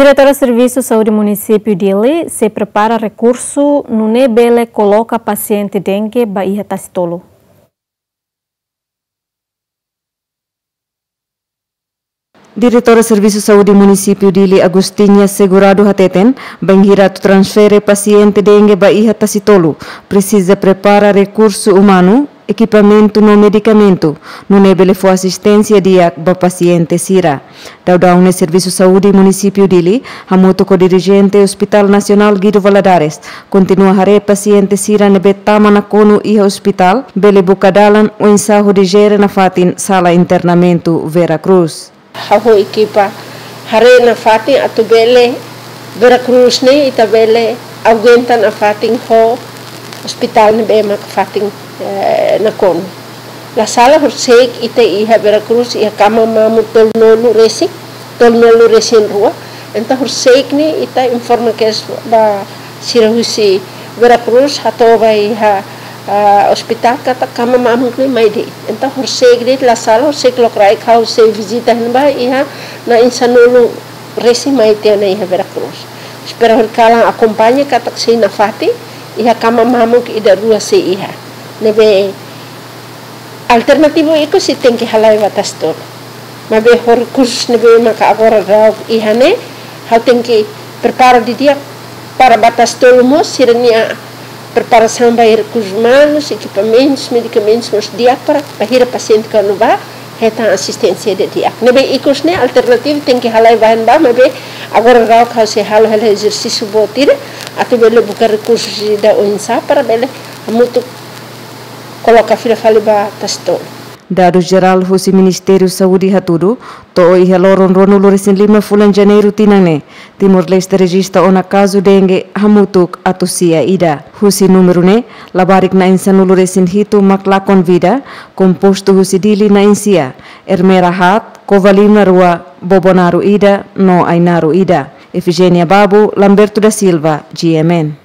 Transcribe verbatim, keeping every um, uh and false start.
Diretora Servisu Saúde Munisípiu Dili sei prepara rekursu nune'e bele koloka pasiente dengue ba iha Tasi Tolu. Diretora Servisu Saúde Munisípiu Dili, Agostinha Segurado, hateten, bainhira atu transfere pasiente dengue ba iha Tasi Tolu, presiza prepara rekursu umanu, ekipamentu no medikamentu, nune'e bele fó asisténsia di'ak ba pasiente sira. Daudaun ne'e Servisu Saúde Munisípiu Dili, hamutuk ho dirijente Hospital Nasionál Guido Valadares, kontinua haree pasiente sira ne'ebé tama nakonu iha ospitál, bele buka dalan oinsá hodi jere nafatin sala internamentu Vera Cruz. Ha'u ho ekipa haree nafatin atu bele Vera Cruz ne'e ita bele aguenta nafatin ho ospitál ne'ebé mak fatin, eh, nakonu. La sala horisehik ita iha Vera Cruz iha kama mamuk tolunulu resin, tolunulu resin rua. Entaun horisehik ne'e ita informa kedas ba sira husi Vera Cruz hato'o ba iha, ah, ospitál katak kama mamuk ne'e mai de'it. Entaun horisehik de'it, la sala horisehik lokraik ha'u sei vizita iha ne'ebá iha na'in sanulu resin mai tiha ona iha Vera Cruz. Espera horikalan akompaña katak sei nafatin iha kama mamuk ida rua sei iha. Ne'ebé alternativa ikus sei tenke halai ba Tasi Tolu. Maibé ho rekursu ne'ebé maka agora daudaun iha ne'e, ha'u tenke prepara didi'ak para ba Tasi Tolu mós, sira-nia preparasaun ba rekursus umanus, ekipamentus, medikamentus mós di'ak para bainhira pasiente kuandu bá hetan asisténsia didi'ak. Ne'ebé ikus ne'e alternativa tenke halai ba iha ne'ebá, maibé agora daudaun ha'u sei halo hela ezersísiu boot ida, atu bele buka rekursu ida oinsá para bele hamutuk koloka fila fali ba Tasi Tolu. Dadus jerál husi Ministériu Saúde hatudu, to'o iha loron ruanulu resin lima fulan Janeiru tinan ne'e, Timor-Leste rejista ona kazu dengue hamutuk atus sia ida. Husi númeru ne'e, labarik na'in sanulu resin hitu mak lakon vida, kompostu husi Dili na'in sia, Ermera haat, Covalima rua, Bobonaro ida, no Ainaro ida. Efigénia Babu, Lamberto da Silva, G M N.